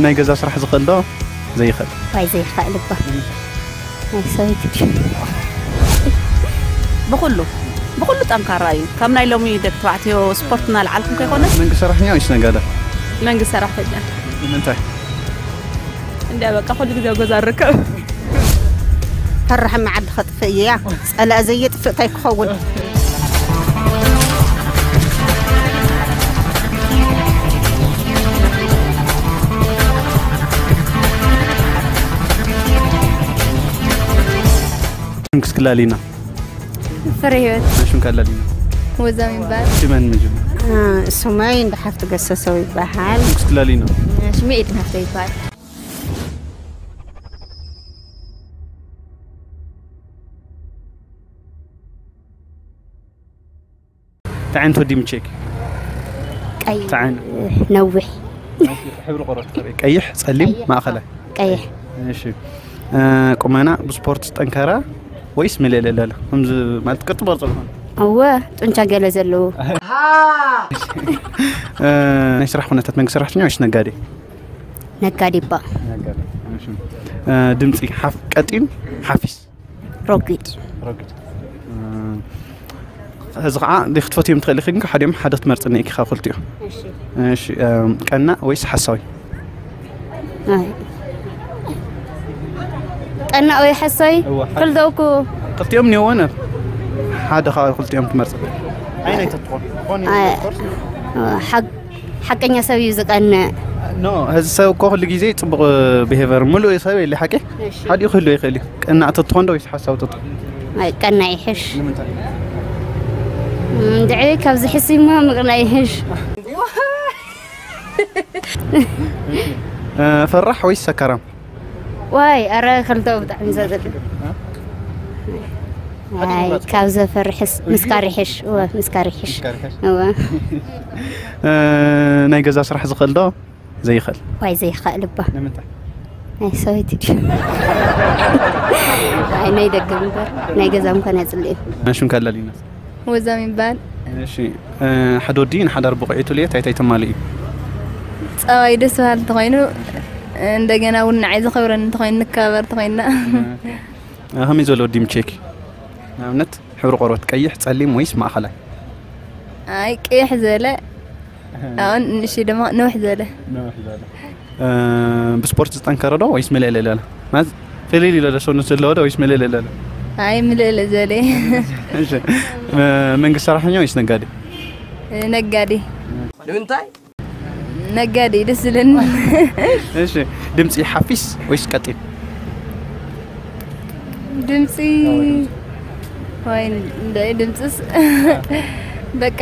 ናይ ገዛ ስራሕ ዝኽእል ዶ ዘይኽእል? ዋይ ዘይኽእል እባ። ናይ ሰበይቲ ድዩ? ብኹሉ ብኹሉ ጠንካራ እዩ። ከም ናይ ሎሚ ደቂ ተባዕትዮ ስፖርት እናልዓልኩም ከይኮነስ መንግስቲ ሰራሕተኛ ወይስ ነጋዳ? መንግስቲ ሰራሕተኛ። ንምንታይ? እንዲያ በቃ ኩሉ ግዜ ኣብ ገዛ ንርከብ። ፈርሕ መዓዲ ከጥፍእ እያ። ጸላእ ዘየጥፍእ እንታይ ክኸውን? ሽምክስ ክላሊና። ፍረ ህይወት። ሽምካ ላሊና። ወዛም ይባል። ሽመን መጀመር። ስመይ እንደ ሓፍቲ ገሰሰው ይበሃል። ሽምክስ ክላሊና። ሽመይ ኤድን ሃፍተ ይባል። ተዓይነት ወዲ ምቼክ። ቀይ ተዓይን። ነዊሕ። ሕብሪ ቆርበት ከመይ? ቀይሕ፣ ጸሊም፣ ቀይሕ። ማእኸላይ። ቀይሕ። እሺ። እ፣ ቁመና ብስፖርት ጠንካራ ወይስ ምልእልእ ለለ? ከምዚ ማለት ቅርጺ በርጾ ዝኾነ? እወ፣ ጡንቻ ገለ ዘለዎ። እ፣ ናይ ስራሕ ኩነታት መንግስቲ ሰራሕተኛ ወይስ ነጋዴ? ነጋዴ እባ። ነጋዴ። እሺ። እ፣ ድምጺ ሓፍ-፣ ቀጢን ሓፊስ? ረጒድ። ረጒድ። እ፣ እዚ ኸዓ ዘይክትፈትዮም ትኽእል ኢኺ፣ ግን ሓዲኦም ሓደ ክትመርጽ እኒኤኪ ካብ ክልቲኡ። እሺ። እሺ፣ እ፣ ቀናእ ወይስ ሓሳዊ? ኣይ። ቀናእ ወይ ሓሳዊ? እወ፣ ሓደ። ክልተኡ እኮ። ክልቲኦም እኒኦዎ ነ-፣ ሓደ ካብ ክልቲኦም ትመርጽ። ኣይ፣ ናይ ተትኾን። ዝኾነ ኣይ። ኮርስ። ሓቅ-፣ ሓቀኛ ሰብ እዩ ዝቀንእ። ኖ፣ እዚ ሰብ እኮ ኩሉ ግዜ ጽቡቕ ብሄቨር፣ ምሉእ ሰብ የለ ሓቂ? እሺ። ሓዲኡ ክህሉ ይኽእል እዩ። ቀናእ ተትኾን ዶ ወይስ ሓሳዊ ተትኾን? ኣይ፣ ቀናእ ይሕሽ። ንምንታይ? እንድዒ ካብዚ ሕሲማ ምቅናእ ይሕሽ። እ፣ ፈራሕ ወይስ ሰካራም? ዋይ፣ ኣረ ክልተ ብጣዕሚ ዘጽልእ። እ? ኣይ፣ ካብ ዘፈርሕስ ምስካር ይሕሽ። እወ፣ ምስካር ይሕሽ። ምስካር ይሕሽ። እወ። እ፣ ናይ ገዛ ስራሕ ዝኽእል ዶ ዘይኽእል? ዋይ፣ ዘይኽእል እባ። ንምንታይ? ናይ ሰበይቲ ድዩ? ኣይ፣ ናይ ደገ እምበር፣ ናይ ገዛ ምዃን ኣጽልእ። ሽምካ ላሊና። ወዛም ይባል። እሺ፣ እ፣ ሓደ ወዲ ንሓዳር ብቑዕ እዩ ትብልዮ፣ እንታይ እንታይ ተማልእ እዩ? ጸባይ ደስ በሃሊ እንተኾይኑ፣ እንደገና እውን ንዓይ ዘኽብረኒ እንተኾይኑ፣ ንከባበር እንተኾይንና። ኦኬ። እ፣ ከመይ ዝበለ ወዲ ምቼክ? ንኣብነት፣ ሕብሪ ቆርበት ቀይሕ፣ ጸሊም ወይስ ማእኸላይ? ኣይ፣ ቀይሕ ዝበለ፣ ኣሁን ንእሽተይ ድማ ነውሕ ዝበለ። ነውሕ ዝበለ። እ፣ ብስፖርት ዝጠንከረ ዶ ወይስ ምልእልእ ዝበለ? ማለት ፍልል ዝበለ ሰውነት ዘለዎ ዶ ወይስ ምልእልእ ዝበለ? ኣይ፣ ምልእልእ ዝበለ። እሺ። እ፣ መንግስቲ ሰራሕተኛ ወይስ ነጋዴ? ነጋዴ። ንምንታይ? ነጋዴ ደስ ዝለኒ። እሺ፣ ድምጺ ሓፊስ ወይስ ቀጢን? ድምጺ ወይ እንደ ድምጽስ በቃ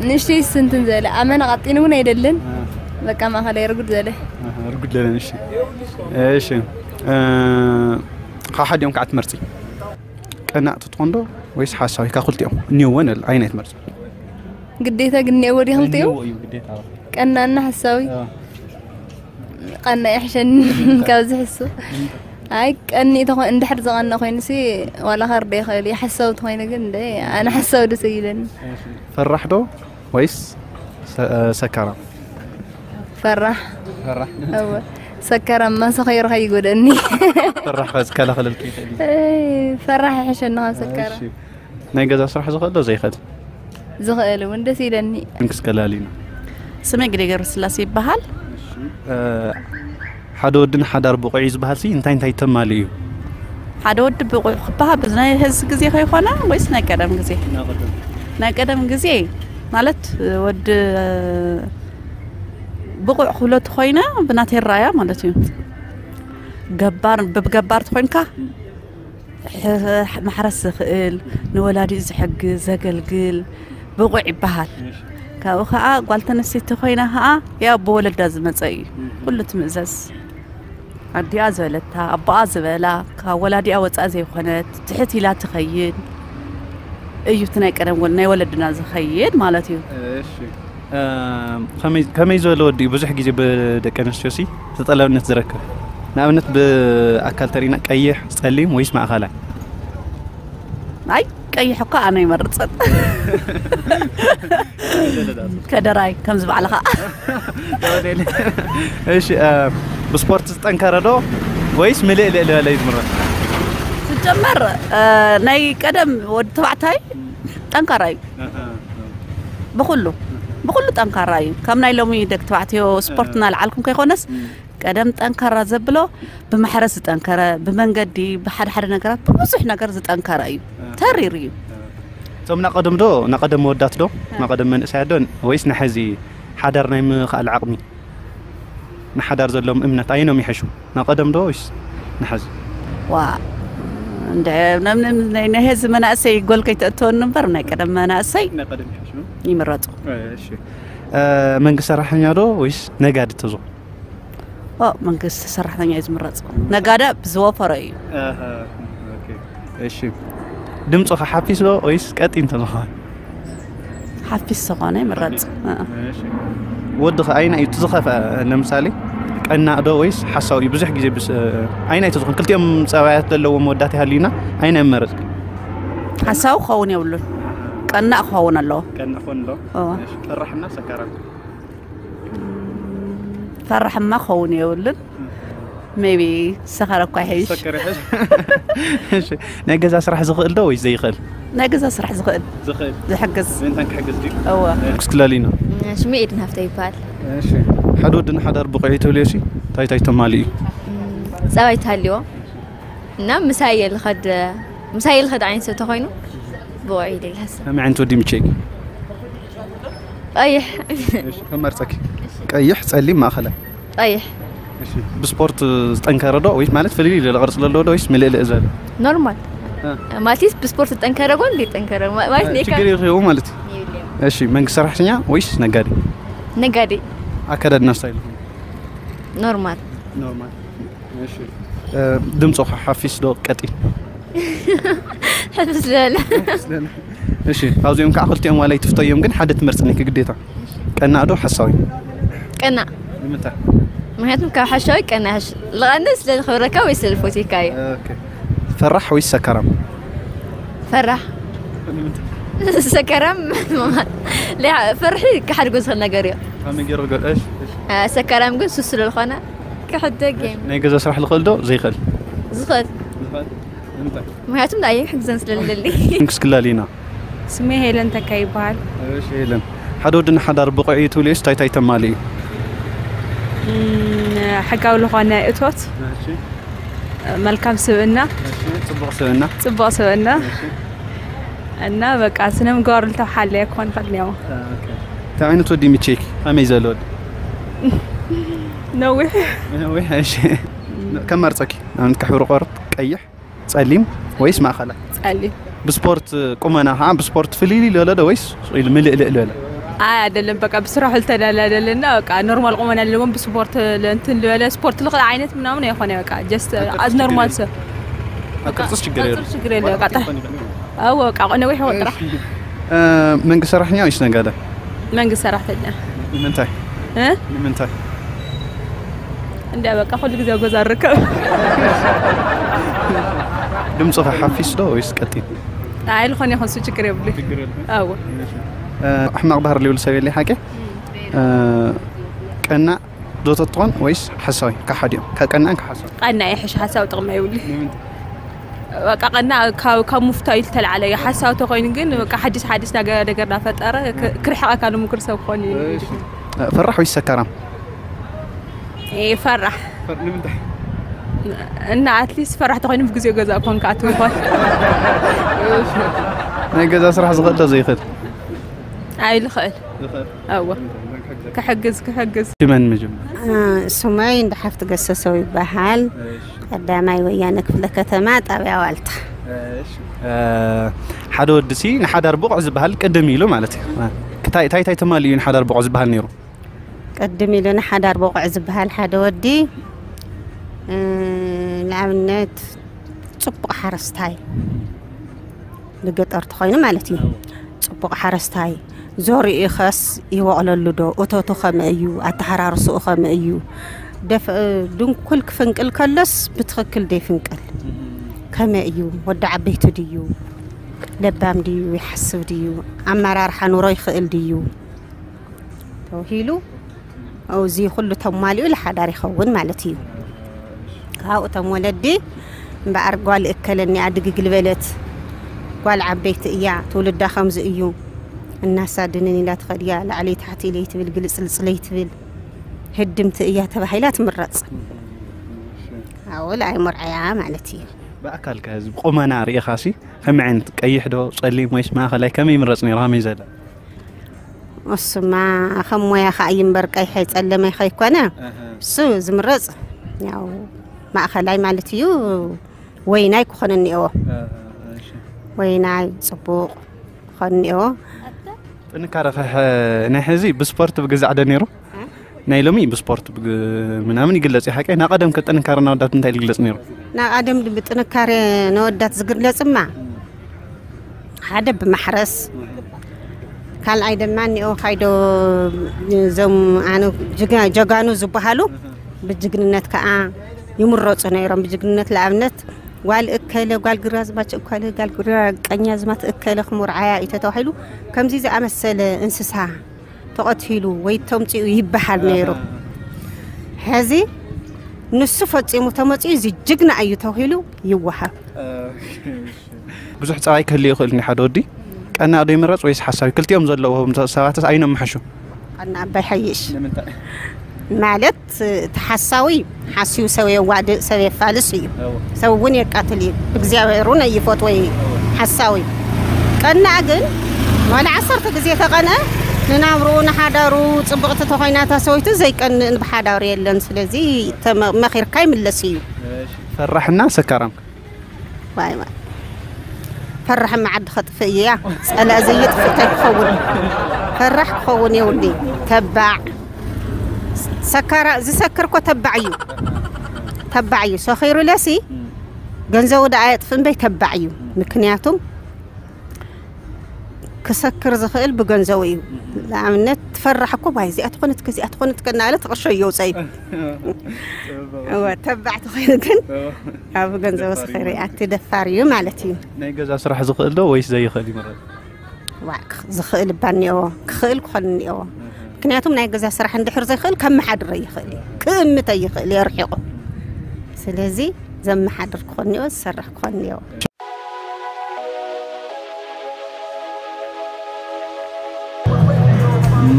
ንእሽተይ ስንትን ዘለ ኣመና ቀጢን እውን ኣይደልን። አ። በቃ ማእኸላይ ርጉድ ዘለ። ኣሃ፣ ርጉድ ዘለ፣ እሺ። እሺ፣ እ፣ ካብ ሓዲኦም ከዓ ትመርጺ? ቀናእ ትኾን ዶ ወይስ ሓሳዊ? ካብ ክልቲኦም እኒኦዎ ንብል፣ ኣየናይ ትመርጺ? ግዴታ ግን እኒኦዎ ድዩ ክልቲኡ? እኒኦዎ እዩ ግዴታ። ቀናእና ሓሳዊ? አ። ቀናእ ይሕሸኒ ካብ ዝሕሱ። ኣይ ቀኒእ ተኾ-፣ እንድሕር ዝቐንእ ኮይኑሲ ዋላ ከርደ ይኽእል እዩ። ሓሳዊ ተኾይኑ ግን እንደ ኣነ ሓሳዊ ደስ ይብለኒ። ፈራሕ ዶ ወይስ ሰ-፣ ሰካራም? ፈራሕ። ፈራሕ። እወ። ሰካራም ማሰ ኸይሩ ከይጎደኒ። ፈራሕ ከ ዝከላኸለልኪ ይኽእል እዩ? እይ፣ ፈራሕ ይሕሸኒ ካብ ሰካራም። እሺ። ናይ ገዛ ስራሕ ዝኽእል ዶ ዘይኽእል? ዝኽእል እውን ደስ ይለኒ። እንክስ ከላሊና። ስመይ ግደ ገብረስላሴ ይበሃል። እ፣ ሓደ ወድን ሓዳር ብቑዕ እዩ ዝበሃል ሲ እንታይ እንታይ ተማልእ እዩ? ሓደ ወዲ ብቑዕ ክበሃል ብናይ ሐዚ ግዜ ከይኮነ ወይስ ናይ ቀደም ግዜ? ናይ ቀደም። ናይ ቀደም ግዜ ማለት ወዲ ብቑዕ ክብሎ ተኾይነ ብናተይ ራእያ ማለት እዩ። ገባር፣ ብገባር ተኾይንካ ሕ-፣ ማሕረስ ዝኽእል፣ ንወላዲኡ ዝሕግዝ፣ ዘገልግል ብቑዕ ይበሃል። እሺ። ካብኡ ኸዓ ጓል ተነስተይቲ ኮይና ኸዓ ያው ብወለዳ ዝመፀ እዩ። እም። ኩሉ ትምእዘዝ። ኣዲኣ ዝበለታ፣ ኣቦኣ ዝበላ፣ ካብ ወላዲኣ ወፃኢ ዘይኮነት፣ ትሕት ኢላ ትኸይድ እዩ። እቲ ናይ ቀደም ወል-፣ ናይ ወለድና ዝኸይድ ማለት እዩ። እሺ። እ፣ ከመይ፣ ከመይ ዝበለ ወዲ እዩ ብዙሕ ግዜ ብደቂ ኣንስትዮሲ ተጠላብነት ዝረክብ? ንኣብነት ብኣካል ተሪእና ቀይሕ፣ ጸሊም ወይስ ማእኸላይ? ኣይ፣ ቀይሕ እኮ ኣነ ይመርጸን። ከደራይ ከምዚ ባዕልኻ። እሺ፣ ብስፖርት ዝጠንከረ ዶ ወይስ ምልእ ልእ ዝበለ እዩ ዝምረጽ? ስጀመር ናይ ቀደም ወዲ ተባዕታይ ጠንካራ እዩ። ብኩሉ ብኩሉ ጠንካራ እዩ። ከም ናይ ሎሚ ደቂ ተባዕትዮ ስፖርት እናልዓልኩም ከይኮነስ ቀደም ጠንካራ ዘብሎ ብማሕረስ ዝጠንከረ፣ ብመንገዲ፣ ብሓደ ሓደ ነገራት፣ ብብዙሕ ነገር ዝጠንከረ እዩ። ተሪር እዩ። እቶም ናቀደም ዶ ናቀደም መወዳት ዶ ናቀደም መንእሰያት ዶ ወይስ ንሐዚ ሓዳር ናይ ምኽኣል ዓቕሚ ንሓዳር ዘለዎም እምነት ኣየኖም ይሕሹ? ናቀደም ዶ ወይስ ንሐዚ? ዋ እንደ ናይ ሕዚ መናእሰይ ጎል ከይተእተወኒ እምበር ናይ ቀደም መናእሰይ ይምረፁ። መንግስቲ ሰራሕተኛ ዶ ወይስ ነጋዲ ተዝኾን? መንግስቲ ሰራሕተኛ እዩ ዝምረፅ። ነጋዳ ብዝወፈረ እዩ። እሺ ድምፁ ከ ሓፊስ ዶ ወይስ ቀጢን ተዝኾን? ሓፊስ ዝኾነ ይምረፅ። ወዲ ከ ኣይና እዩ ዝኸፍአ? ለምሳሌ ቀናእ ዶ ወይስ ሓሳዊ እዩ? ብዙሕ ግዜ ኣይና እዩ ዝኸውን? ክልቲኦም ፀባያት ዘለዎም መወዳት ይሃልዩና ኣይና ይመረፅ? ሓሳዊ ክኸውን የብሉን። ቀናእ ክኸውን ኣለዎ። ፈራሕና ሰካራም ፈራሕማ ክኸውን የብሉን። ሜቢ ሰኸረ እኳ ይሕይሽ። ናይ ገዛ ስራሕ ዝኽእል ዶ ወይ ዘይኽእል? ናይ ገዛ ስራሕ ዝኽእል ዝሕግዝ። ክሕግዝ እወ። ክስክለሊ ነው። ሽሜ ኤድን ሃፍተ ይበሃል። ሓደ ወዲ ንሓዳር ብቑዕ እዩ ትብልዮ ሲ እንታይ እንታይ ተማሊ እዩ? ፀባይ ተሃልዎ እና ምሳየ ልኸድ ምሳየ ልኸድ ዓይነት ሰብ ተኾይኑ ብቑዕ እዩ ኢለ ይሓስብ። ከመይ ዓይነት ወዲ ምቸይኪ? ቀይሕ ከመርፀኪ? ቀይሕ፣ ፀሊም፣ ማእኸላይ? ቀይሕ። ብስፖርት ዝጠንከረ ዶ ወይስ ማለት ፍልልይ ዝበለ ቅርፂ ዘለዎ ዶ ወይስ ምልእልእ ዝበለ? ኖርማል ማለትስ ብስፖርት ዝጠንከረ ጎን ዘይጠንከረ ማለት ኔካ ችግር የልኸው ማለት እዩ። እሺ መንግስቲ ሰራሕተኛ ወይስ ነጋዴ? ነጋዴ። ኣከዳድና ስታይል? ኖርማል። ኖርማል። ድምፆ ሓፊስ ዶ ቀጢን? ሕፍስ ዝበለ። እሺ ካብዚኦም ከዓ ክልቲኦም ዋላ ይትፍተዮም ግን ሓደ ትመርፅኒ ግዴታ። ቀናእ ዶ ሓሳዊ? ቀናእ። ንምንታይ? ምክንያቱም ካብ ሓሻዊ ቀናሽ ልቐንስ ስለዝኸብረካ ወይ ስለዝፎትካ እዩ። ፈራሕ ወይስ ሰካራም? ፈራሕ። ሰካራም ፍርሒ ክሓድጎ ዝኽእል ነገር እዩ። ሰካራም ግን ሱስ ስለዝኾነ ክሕደግ እዩ። ናይ ገዛ ስራሕ ዝኽእል ዶ ዘይኽእል? ዝኽእል። ምክንያቱም ንኣየ ክሕግዘን ስለለሊ። ክስክላሊና ስሜ ሄለን ተካ ይበሃል። ሄለን ሓደ ወዲ ንሓዳር ብቑዕ እዩ ትብልስ እንታይ እንታይ ተማልእ እዩ? ሕጋዊ ዝኾነ እቶት፣ መልካም ስብእና፣ ፅቡቕ ስብእና፣ ፅቡቕ ስብእና እና በቃ ስነ ምግባሩ ልተሓለየ ክኾን ይኽእል እኒኦ። እንታይ ዓይነት ወዲ ምቼክ ከመይ ዘሎ ወዲ? ነዊሕ ነዊሕ። እሺ ከመርፀኪ ንኣብነት ከሕብሪ ቆርጥ ቀይሕ ጸሊም ወይስ ማእኸላይ? ጸሊም። ብስፖርት ቁመና ከዓ ብስፖርት ፍልይልይ ዝበለ ዶ ወይስ ኢሉ ምልእልእ ዝበለ? ኣይ ኣይደለም፣ በቃ ብስራሑ ዝተደላደለና በቃ ኖርማል ቁመና ኣለዎም ብስፖርት እንትን ዝበለ ስፖርት ልኽእል ዓይነት ምናምን ኣይኮነ በቃ just as normal ሰብ። ኣብ ቅርፅስ ችግር የለ። ችግር የለ በቃ ጥራሕ ኣዎ በቃ ነዊሕ ወጥራሕ። መንግስቲ ሰራሕተኛ ወይስ ነጋዳ? መንግስቲ ሰራሕተኛ። ንምንታይ? እ? ንምንታይ? እንዲያ በቃ ኩሉ ግዜ ኣብ ገዛ እርከብ። ድምፅኻ ሓፊስ ዶ ወይስ ቀጢን? ኣይ ዝኾነ ይኹን እሱ ችግር የብሉ። ኣዎ። ሕማቕ ባህሪ ዘይብሉ ሰብ የለ ሓቂ? ቀናእ ዶ ተትኾን ወይስ ሓሳዊ? ካብ ሓዲኦም ካብ ቀናእን ካብ ሓሳዊ? ቀናእ ይሕሽ ሓሳዊ ጥቕሚ የብሉ። በቃ ቀናእ ካብ ካብ ምፍታው ዝተላዕለ እዩ። ሓሳዊ ተኾይኑ ግን በቃ ሓዲስ ሓዲስ ነገር ነገር እናፈጠረ ክርሕቐካ ንምክር ሰብ ክኾን እዩ። ፈራሕ ወይስ ሰካራም? ፈራሕ። እና ኣትሊስት ፈራሕ ተኾይኑ ብግዜኡ ገዛ ኮንካ ኣትምኾን። ናይ ገዛ ስራሕ ዝኽእል ዶ ዘይኽእል? ኣይ ልኽእል። ኣዎ ክሕግዝ ክሕግዝ። ሽመን መጀመር? ስመይ እንዳ ሓፍቲ ገሰሰው ይበሃል። ቀዳማይ ወያነ ክፍለ ከተማ ጣብያ ዋልታ። ሓደ ወዲ ሲ ንሓዳር ብቑዕ ዝበሃል ቅድም ኢሉ ማለት እዩ። እንታይ እንታይ ተማልኡ እዩ ንሓዳር ብቑዕ ዝበሃል ነይሩ? ቅድም ኢሉ ንሓዳር ብቑዕ ዝበሃል ሓደ ወዲ ንኣብነት ፅቡቕ ሓረስታይ ብገጠር ተኾይኑ ማለት እዩ። ፅቡቕ ሓረስታይ ዘሪኡ ኸስ ይወቕለሉ ዶ? እቶቱ ኸመይ እዩ? ኣተሓራርስኡ ኸመይ እዩ? ድንኩል ክፍንቅል ከሎስ ብትኽክል ዶ ይፍንቅል? ከመይ እዩ? ወዲ ዓበይቲ ድዩ? ለባም ድዩ፣ ይሓስብ ድዩ፣ ኣመራርሓ ኑሮ ይኽእል ድዩ ተባሂሉ፣ እዚ ኩሉ ተማሊኡ ለሓዳር ይኸውን ማለት እዩ። ካብኡ እቶም ወለዲ እምበኣር ጓል እከለኒ ኣድግግል በለት፣ ጓል ዓበይቲ እያ፣ ትውልዳ ከምዚ እዩ፣ እናሳድንን ኢላ ትኸድያ፣ ላዕለይ ታሕቲ ኢለይ ትብል፣ ግልጽልጽለይ ትብል፣ ህድምቲ እያ ተባሂላ ትምረጽ። ኣወል ኣይሞርዓያ ማለት እዩ። ብኣካል ከዚ ቁመና ርኢኻሲ ከመይ ዓይነት ቀይሕ ዶ ጸሊም ወይስ ማእኸላይ ከመይ ይምረጽ ነይሩ ከመይ ዘለ እሱማ ከም ሞያ ከዓ እዩ እምበር ቀይሐ ጸለመ ከይኮነ እሱ ዝምረጽ ያው ማእኸላይ ማለት እዩ። ወይናይ ክኾነ እኒኦ ወይናይ ጽቡቕ ክኾነ እኒኦ። ጥንካረ ናይ ሕዚ ብስፖርት ብግዛዕ ዶ ነይሩ ናይ ሎሚ ብስፖርት ምናምን ይግለጽ እዩ ሓቀይ ናቀደም ከጥንካረ ናወዳት እንታይ ይግለጽ ነይሩ? ናቀደም ብጥንካረ ነወዳት ዝግለጽማ ሓደ ብማሕረስ ካልኣይ ድማ እኒኦ ካይዶ እዞም ኣነ ጀጋኑ ዝበሃሉ ብጅግንነት ከዓ ይምረፁ ነይሮም። ብጅግንነት ለኣብነት ጓል እከለ ጓል ግራዝማች እከለ ጓል ግራቀኛዝማት እከለ ክምርዓያ እዩ ተተባሂሉ ከምዚ ዝኣመሰለ እንስሳ ተቐቲሉ ወይ ተምፂኡ ይበሃል ነይሩ። ሕዚ ንሱ ፈፂሙ ተመፂኡ እዚ ጅግና እዩ ተባሂሉ ይወሃብ። ብዙሕ ፀባይ ክህልእ ይኽእል እንዲ ሓደ ወዲ ቀናእ ዶ ይምረፅ ወይስ ሓሳዊ? ክልቲኦም ዘለዎም ሰባትስ ኣይኖም ምሐሹ? ቀናእ ኣባይ ሓይሽ ማለት እቲ ሓሳዊ ሓስዩ ሰብ የዋድእ ሰብ የፋልስ እዩ። ሰብ እውን የቃትል እዩ። እግዚኣብሔር እውን ኣይፈትዎ እዩ ሓሳዊ። ቀናእ ግን ዋላ ዓሰርተ ግዜ ተቐንአ ንናብርኡ ንሓዳሩ ፅብቕቲ ተኾይና እታ ሰበይቱ ዘይቀንእን ብሓዳሩ የለን። ስለዚ መኺርካ ይምለስ እዩ። ፈራሕና ሰካራም ዋይ ዋይ ፈራሕ መዓዲ ከጥፍእ እያ ጸላእ ዘይጥፍእ እንታይ ክኸውን ፈራሕ ክኸውን የውዲ ተባዕ ሰካራ ዝሰክር እኮ ተባዕ እዩ ተባዕ እዩ ሰኺሩ ለሲ ገንዘቡ ደኣ የጥፍእ እምበይ ተባዕ እዩ ምክንያቱም ክሰክር ዝኽእል ብገንዘቡ እዩ ንኣብነት ትፈራሕ እኮ ባይ እዚኣ ትኾነት ከዚኣ ትኾነት ከናለ ትቕርሾ እየውፀ እዩ እወ ተባዕ ተኾይኑ ግን ኣብ ገንዘቡ ስኺሪ ኣቲ ደፋር እዩ ማለት እዩ ናይ ገዛ ስራሕ ዝኽእል ዶ ወይስ ዘይኽእል ይምረፅ ዝኽእል እባ እኒኦ ክኽእል ክኾን እኒኦ ምክንያቱም ናይ ገዛ ስራሕ እንድሕር ዘይኽእል ከመሓድረ ይኽእል እዩ ክእምተ ይኽእል የርሒቑ ስለዚ ዘመሓድር ክኾን እኒኦ ዝሰርሕ ክኾን እኒኦ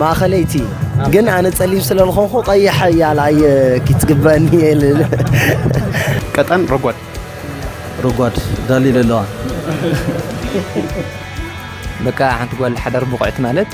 ማእኸለይቲ ግን ኣነ ፀሊም ስለ ዝኾንኩ ቀይሕ እያላ እየ ክትግበአኒ እየ ልብል ቀጠን ረጓድ ረጓድ ዳሊ ለለዋ በቃ ሓንቲ ጓል ሓዳር ብቑዕቲ ማለት